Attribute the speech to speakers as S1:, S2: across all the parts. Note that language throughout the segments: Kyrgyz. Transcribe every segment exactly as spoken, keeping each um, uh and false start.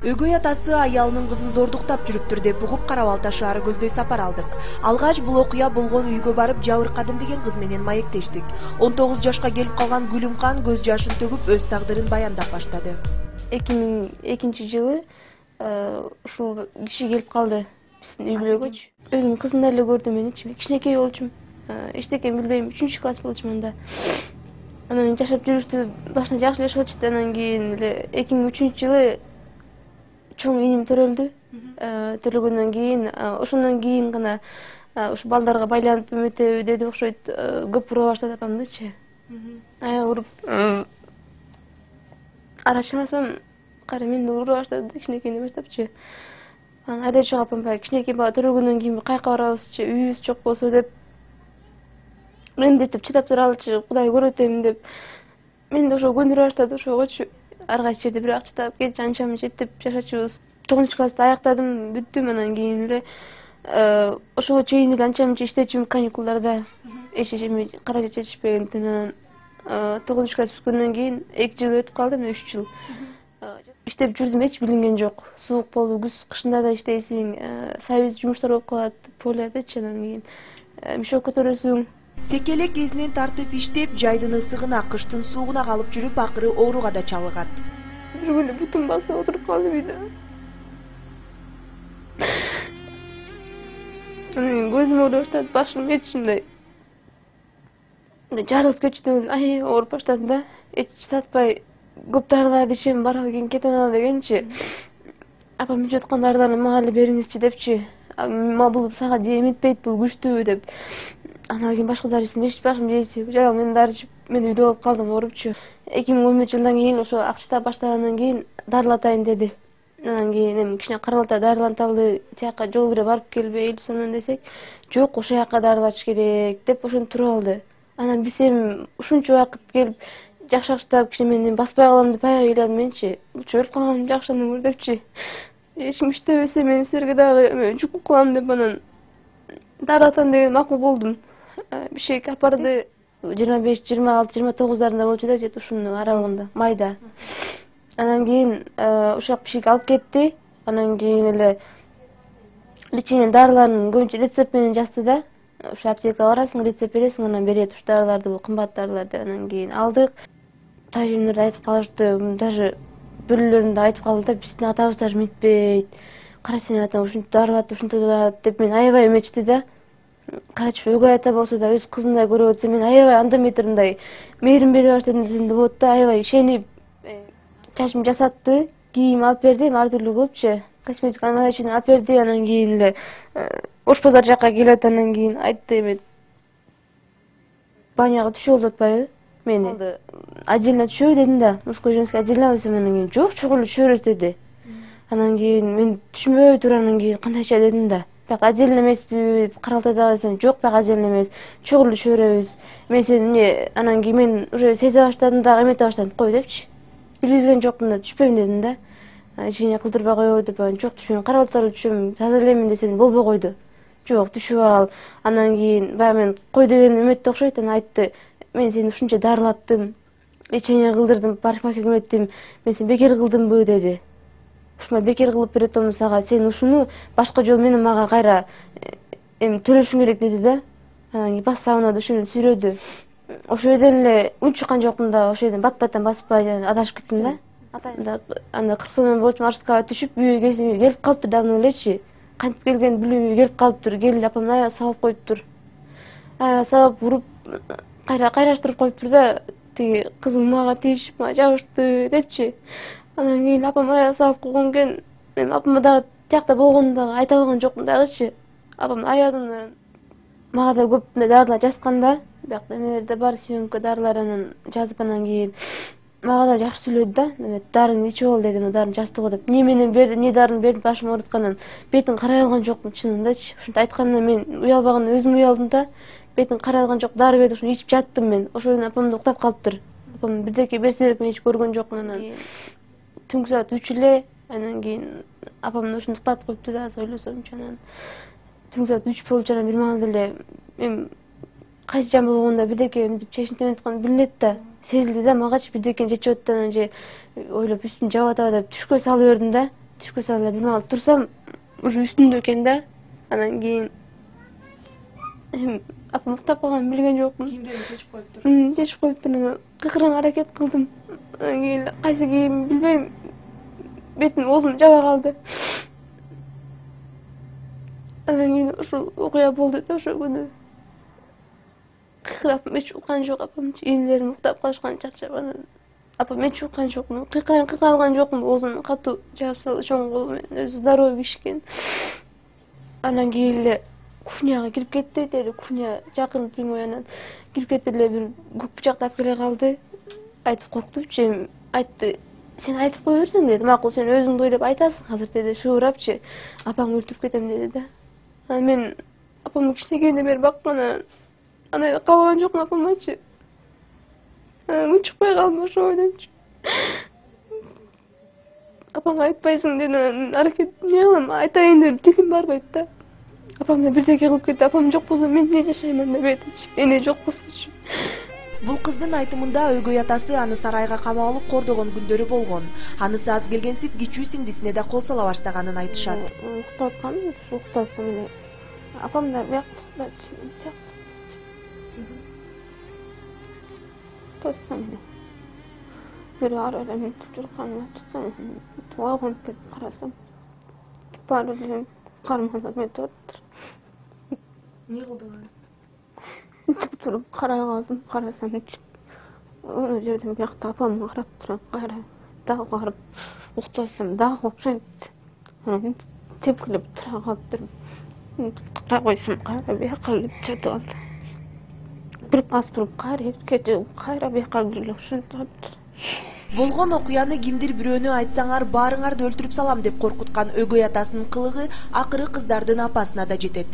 S1: Өгөй атасы аялынын кызын зордуктап жүрүптүр деп угуп Кара Балта шаары көздөй сапар алдык. Алгач бул окуя болгон үйгө барып жабыркадым деген кыз менен маектештик. он тогуз жашка келип калган Гүлүмкан көз жашын төгүп өз тагдырын баяндап баштады.
S2: эки миң экинчи жылы ушул киши келип калды биздин үй бүлөгөчү. Өзүмдүн кызымдай эле көрдүм мен, кичинекей болчумун. Эчтекени билбейм, үчүнчү класс болчумун анда. Анан жашап жүрүштү, башында жакшы эле болчу, анан кийин эле эки миң үчүнчү жылы чоң ийним төрөлдү. Төрөлгөндөн кийин, ошондон кийин гана ушу балдарга байланып эметеби деди окшойт, көп ура баштады апамдычы. Аябай уруп арачыласам, кайра мени ура баштады да, кичинекейден баштапчы. Анан айдап чыгып апам баягы кичинекей бала төрөлгөндөн кийин каяка барабызчы, үйүбүз жок болсо деп мендетип чыдап туралычы, Кудай көрөт эми деп. Мен да ошо көндүрө баштады ошогочу. Ар кайсы жерде бирок чыдап кетчи, анча мынча эптеп жашачубуз. тогузунчу классты аяктадым, бүттүм, анан кийин эле ошого чейин эле анча мынча иштечүмүн каникулдарда. Эч эчеме каражат жетишпегендиктен анан тогузунчу класс бүткөндөн кийин эки жыл өтүп калды, мына үч жыл. Иштеп жүрдүм, эч билинген жок. Суук болду, күз кышында да иштейсиң, сайбиз жумуштар болуп калат, полядычы, анан кийин мешок көтөрөсүң.
S1: Секелек кезинен тартып иштеп, жайдын ысыгына, кыштын суугуна калып жүрүп, акыры ооруга да чалыгат.
S2: Бир күнү бутум басып отуруп калдым үйдө. Анан көзүм ооруй баштады, башым эч ушундай жарылып кетчү, ай ооруп баштады да. Эч сатпай көп дарыларды ичем, баралы кийин кете алалы дегенчи. Апам ичип аткан дарыларды мага эле бериңизчи депчи. Бул сага эметпейт, бул күчтүү деп. Анан кийин башка дары ичсем, эч башым жейси, жалаң мен дары ичип, мен үйдө болуп калдым оорупчу. эки миң он бешинчи жылдан кийин ошо акча баштагандан кийин дарылатайын деди. Анан кийин эми кичине Кара Балта дарыланталы, тияка жол бире барып келбей элүү сомдон десек, жок, ошол жака дарылатыш керек деп ошентип туруп алды. Анан биз эми ушунча убакыт келип жакшаштап, кичине мен баспай калам деп аябай ыйладым менчи. Лучше өлүп калганым жакшы андан көрө депчи. Эч ким иштебесе мен силерге дагы жүк болуп калам деп анан дарылатам деген макул болдум. Бишек апарды жыйырма беш, жыйырма алты, жыйырма тогуздарында болчу да, жет ушунун аралыгында, майда. Анан кийин ушак бишек алып кетти. Анан кийин эле лечение дарыларын көбүнчө рецепт менен жазды да. Ушу аптекага барасың, рецепт бересиң, анан берет ушу дарыларды, бул кымбат дарылар деп. Анан кийин алдык. Тажемдер айтып калышты, даже бөлөлөрүндө айтып калды да, биздин атабыз даже мынтпейт. Кара сенин атаң ушинтип дарылат, ушинтип дарылат деп мен аябай эметти да. Карачы өгөй ата болсо да өз кызындай көрүп атса, мен аябай анда метриндай мээрим бере баштадым десем де болот да, аябай ишенип чачымды жасатты, кийим алып берди, ар түрлүү кылыпчы, косметика үчүн алып берди. Анан кийин эле Ош базар жакка келет, анан кийин айтты эме баняга түшүп алып атпайбы мени. Отдельно түшөбү дедим да, мужской женский отдельно десем, анан кийин жок, чогуу эле түшө берет деди. Анан кийин мен түшүнбөй туруп анан кийин кандайча дедим да. Бирок отдельно эмеспи, Кара Балтадагы десем, жок, бирок отдельно эмес, чогуу эле түшө беребиз. Мен сени эмне, анан кийин мен уже сезе баштадым дагы, эмете баштадым, кой депчи. Билгизген жокмун да, түшпөйм дедим да. Ичине кылдырбай коебу деп, жок түшпөйм, Кара Балтага түшөм, таза элемин десем болбой койду. Жок, түшүп ал. Анан кийин баягы мен кой деген эметти окшойт, анан айтты, мен сени ушунча дарылаттым, лечение кылдырдым, парикмахерге эметтим, мен сени бекер кылдымбы деди. Ушуна бекер кылып беретем сага, сен ушуну башка жол менен мага кайра эми төлөшүң керек деди да. Анан кийин бас сабына ушуну сүйрөдү. Ошол жерден эле үн чыккан жокмун да, ошол жерден бат баттан баспай адашып кеттим да. Анда кырк сомдон болчу маршруткага түшүп, үйгө келип калыптыр давно элечи. Кантип келген билбейм, келип калыптыр, келип апам аябай сабап коюптур. Аябай сабап уруп, кайра кайраштырып коюптур да, тиги кызым мага тийишип, мага жабышты депчи. Анан кийин апам аябай сабап койгон экен. Эми апама дагы тиякта болгону дагы айта алган жокмун дагычы. Апам аядым, мага да көп дарылар жазган да, бирок эмелер да бар, съемка дарылар, анан жазып анан кийин мага да жакшы сүйлөдү да, эме дарыны ичип ал деди, дарыны жазды го деп. Эмне менен берди, эмне дарыны берди, башым ооруткандан бетин карай алган жокмун чынындачы. Ушинтип айткандан мен уялбагандан өзүм уялдым да. Бетин карай алган жок, дары берди, ошону ичип жаттым мен. Ошондон апам да уктап калыптыр. Апам бирдеке берсе керек, мен эч көргөн жокмун. Анан түнкү саат үч эле, анан кийин апам ушинтип уктатып коюпту да, аз ойлосомчу. Анан түнкү саат үч болчу, анан бир маалда эле эми кайсы жан болгондо бирдеке мынтип чечинтип эметкан билинет да, сезилди да, магачы бирдекени чечип атты, анан же ойлоп үстүн жаап атабы деп түшкө салып бердим да. түшкө салып бир маал турсам уже үстүндө экен да. Анан кийин апам уктап калганын билген жокмун.
S1: Кийимдерин чечип коюптур.
S2: Чечип коюптур. Кыйкырганга аракет кылдым. Анан кийин кайсы кийим билбейм. Бетим оозум жаба калды. Анан кийин ушул окуя болду да ошол күнү. Кыйкырап эч уккан жок апам. Энелерим уктап калышкан чарчап анан апам эч уккан жокмун. Кыйкырайын кыйкыра алган жокмун. Оозун катуу жаап салды чоң колу менен. Өзү здоровый бишкен. Анан кийин эле кухняга кирип кетти. Деди кухня жакын прямой анан кирип кетти эле бир көк бычак таап келе калды. Айтып корктупчу. Айтты, сен айтып кое берсең деди. Макул, сен өзүңдү ойлоп айтасың азыр деди. Шыбырапчы. Апаңды өлтүрүп кетем деди да. Анан мен апамды кичинекейинен бери баккан анан андай калган жокмун апамачы. Анан күн чыкпай калдым ошо ойдончу. Апаңга айтпайсың деди. Анан аракет эмне кылам? Айтайын деп тилим барбайт да. Апам да бирдеке кылып кетти. Апам жок болсо мен эмне жашайман деп айтычы. Эне жок болсочу.
S1: Бул кыздын айтымында өгөй атасы аны сарайга камап алып кордогон күндөрү болгон. Анысы аз келгенсип кичүү сиңдисине да кол сала баштаганын айтышат.
S2: Уктап атканбыз, уктасым эле. Апам да биякта уктачу. Тоссам эле. Бир ара эле мынтип жүргөнү tutсам, туагын кетип карасам. Баары эле кармалап метип атыптыр.
S1: Эмне кылдың?
S2: Тип туруп карай калдым, карасам ошол жерден биякта апамга карап турам, кайра дагы барып уктасам, дагы окшойт. Тепкилеп тура калыптыр. Кара койсом, кайра бияка келип жатып алды. Бир аз туруп кайра кетип, кайра бияка келип ошентип атыптыр.
S1: Болгон окуяны кимдир бирөөнү айтсаңар баарыңарды өлтүрүп салам деп коркуткан өгөй атасынын кылыгы акыры кыздардын апасына да жетет.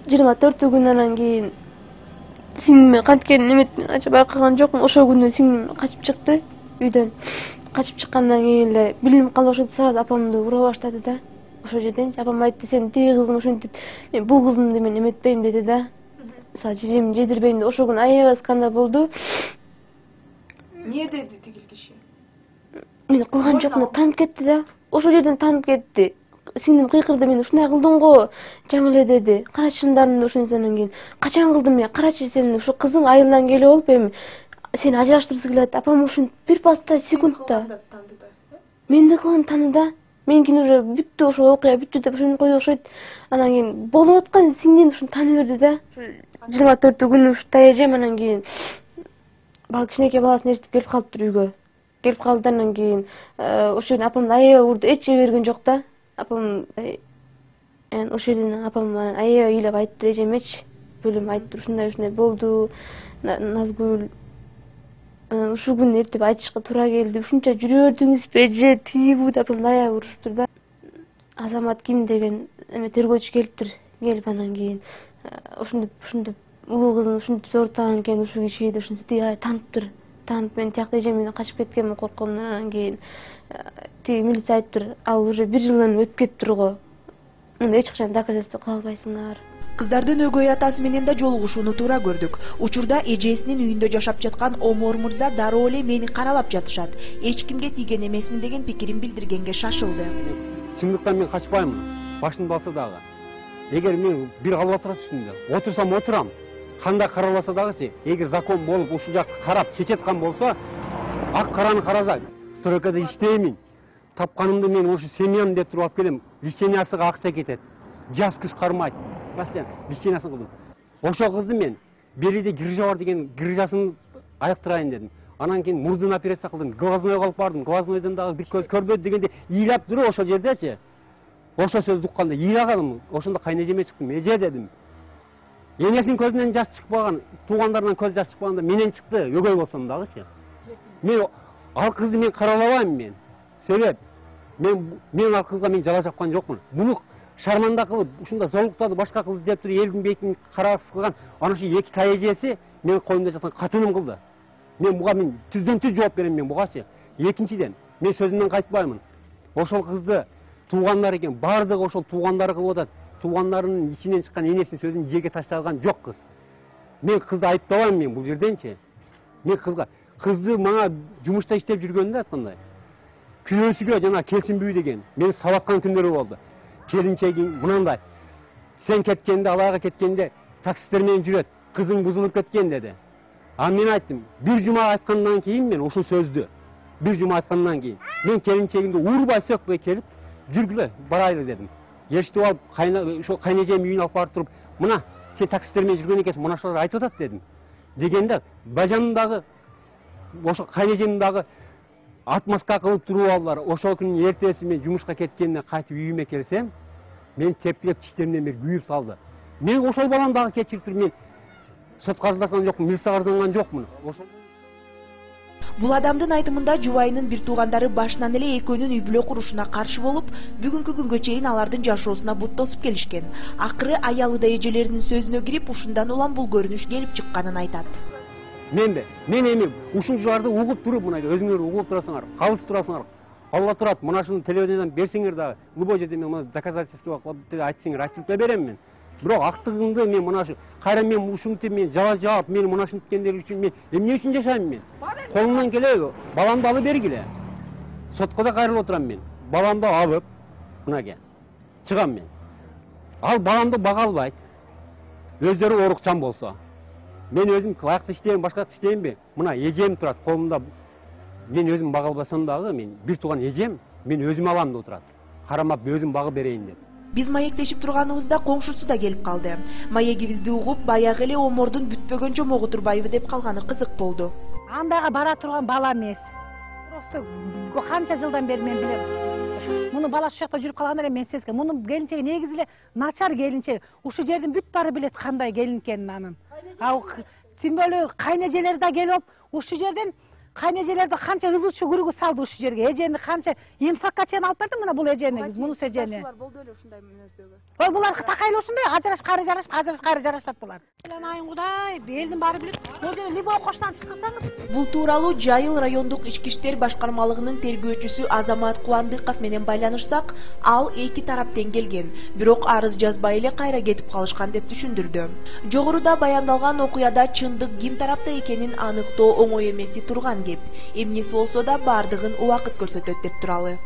S2: жыйырма төртү күн анан кийин сиңдиме канткенин эметмин, ача байкаган жокмун. Ошол күнү сиңдим качып чыкты үйдөн. Качып чыккандан кийин эле билинип калып ошентип сразу апамды ура баштады да. Ошол жерден апам айтты, сен тиги кыздың ошентип, мен бул кыздымды мен эметпейм деди да. Са жежем жедирбейм деп ошол күнү аябай скандал болду.
S1: Эмне деди тигил киши?
S2: Мен кылган жокмун, таанып кетти да. Ошол жерден таанып кетти. Сиңдим кыйкырды, мен ушундай кылдың го, жаңыле деди. Карачы шындарымды ошентсе анан кийин. Качан кылдым мен? Карачы сен ушу кызың айылдан келип алып эми сени ажыраштыргысы келет. Апам ушинтип бир паста секундта. Мен да кылган таны да. Меникин уже бүттү, ошол окуя бүттү деп ошентип койду окшойт. Анан кийин болуп аткан сиңдим ушуну таны берди да. жыйырма төртү күнү ушу таяжем анан кийин бала кичинекей баласын ээрчитип келип калыптыр үйгө. Келип калды анан кийин ошол жерден апамды аябай урду, эч жей берген жок да. Апам ошол жерден апам аябай ыйлап айтыптыр эжемечи. Бөлөм айтыптыр, ушундай ушундай болду. Назгүл анан ушул күнү эптеп айтышка туура келди. Ушунча жүрө бердиңизби эже, тиги бу деп апамды аябай уруштур да. Азамат ким деген эме тергөөчү келиптир. Келип анан кийин ушинтип ушинтип улуу кызын ушинтип зорутаган экен ушул киши деп ушинтип тиги таныптыр. Танып мен тиякта эжем менен качып кеткенмин корккомдон. Анан кийин тиги милиция айтыптыр, ал уже бир жылдан өтүп кетиптир го. Мында эч качан доказательство кыла албайсыңар.
S1: Кыздардын өгөй атасы менен да жолугушууну туура көрдүк. Учурда эжесинин үйүндө жашап жаткан Омор мырза дароо эле мени каралап жатышат. Эч кимге тийген эмесмин деген пикирин билдиргенге шашылды.
S3: Чындыктан мен качпаймын. Башымды алса дагы. Эгер мен бир калып отурат үстүндө, отурсам отурам. Кандай караласа дагычы, эгер закон болуп ушул жакты карап чечеткан болсо, ак караны караса, стройкада иштеймин. Тапканымды мен ушу семьям деп туруп алып келем. Личениясыга акча кетет. Жас күч кармайт. Бастан личениясын кылдым. Ошол кызды мен белиде грыжа бар деген грыжасын айыктырайын дедим. Анан кийин мурдун операция кылдым. Глазной алып бардым. Глазнойдон дагы бир көз көрбөдү дегенде ыйлап туруп ошол жердечи. Ошол сөздү укканда ыйлаганым. Ошондо кайнежеме чыктым. Эже дедим. Энесинин көзүнөн жаш чыкпаган, туугандарынан көз жаш чыкпаганда менен чыкты, өгөй болсом дагычы. Мен ал кызды мен каралабайм мен. Себеп мен мен ал кызга мен жала жапкан жокмун. Муну шарманда кылып, ушунда зоолуктарды башка кылды деп туруп элдин бетин караасыз кылган ана ушу эки таяжеси менин коюмда жаткан катыным кылды. Мен буга мен түздөн түз жооп берем мен бугачы. Экинчиден, мен сөзүмдөн кайтпаймын. Ошол кызды туугандар экен, бардыгы ошол туугандары кылып атат. Туугандарынын ичинен чыккан энесинин сөзүн жерге ташталган жок кыз. Мен кызды айыптабайм мен бул жерденчи. Мен кызга кызды мага жумушта иштеп жүргөндө айткандай. күнөөсүгө жана келсинбүү деген мени сабаткан күндөрү болду. Келинчегиң мынандай, сен кеткенде, алага кеткенде таксисттер менен жүрөт, кызың бузулуп кеткен деди. А мен айттым, бир жума айткандан кийин мен ушул сөздү, бир жума айткандан кийин мен келинчегимди уурбай сөкпөй келип, жүргүлө, барайлы дедим. Эшитип алып, ошо кайнежем үйүнө алып барып туруп, мына сен таксисттер менен жүргөн экенсиң, мына ошолор айтып атат дедим. Дегенде бажамдын дагы, ошо кайнежемдин дагы отмазка кылып туруп алдылар. Ошол күнүн эртеси мен жумушка кеткенде кайтып үйүмө келсем, мен тепкилеп тиштеримден бери күйүп салды. Мен ошол баланы дагы кечирип туруп, мен сотко арызданган жокмун, милицияга арызданган жокмун. Ошол
S1: Бул адамдын айтымында жубайынын бир туугандары башынан эле экөөнүн үй бүлө курушуна каршы болуп, бүгүнкү күнгө чейин алардын жашоосуна бут тосуп келишкен. Акыры аялы да эжелеринин сөзүнө кирип, ушундан улам бул көрүнүш келип чыкканын айтат.
S3: Менде, мен эми ушунчуларды угуп туруп, мына өзүңөр угуп турасыңар, калыс турасыңар. Алла турат, мына шуну телевизордон берсеңер дагы, любой жерде мен мына доказательство кылып айтсаңар, айтып берем мен. Бирок актыгымды мен мына ушу кайра мен ушинтип мен жала жаап, мен мына ушинткендер үчүн мен эмне үчүн жашайм мен? Колумдан келеби, баламды алып бергиле. Сотко да кайрылып отурам мен. Баламды алып, мынага чыгам мен. Ал баламды бага албайт. Өздөрү орукчан болсо. Мен өзүм кылакты иштейм, башкасы иштеймби? Мына эжем турат колумда. Мен өзүм бага албасам дагы, мен бир тууган эжем, мен өзүм алам деп отурат. Карамап өзүм багып берейин деп.
S1: Биз маектешип турганыбызда коңшусу да келип калды. Маегибизди угуп, баягы эле омордун бүтпөгөн жомогу турбайбы деп калганы кызык болду.
S4: Андайга бара турган бала эмес. Просто канча жылдан бери мен билем. Муну бала ушул жакта жүрүп калганда эле мен сезгем. Мунун келинчеги негизи эле начар келинчеги. Ушул жердин бүт баары билет кандай келин экенин анын. А тим более кайнежелери да келип, ушул жерден кайнежелерди канча ызычуу күрүгү салды ушул жерге. Эжени канча эмсакка чейин алып барды мына бул эжени, мунус эжени.
S2: Болду эле ушундай мүнөздөгү.
S4: Ой, булар такайлы ушундай, ажырашып, кайра жарашып, ажырашып, кайра жарашат булар. Айын Кудай, элдин баары билет. Бул жерде любой коштан чыксаңыз.
S1: Бул тууралуу Жайыл райондук ички иштер башкармалыгынын тергөөчүсү Азамат Кубандыков менен байланышсак, ал эки тараптен келген, бирок арыз жазбай эле кайра кетип калышкан деп түшүндүрдү. Жогоруда баяндалган окуяда чындык ким тарапта экенин аныктоо оңой эмеси турган кеп. Эмнеси болсо да бардыгын убакыт көрсөтөт деп туралы.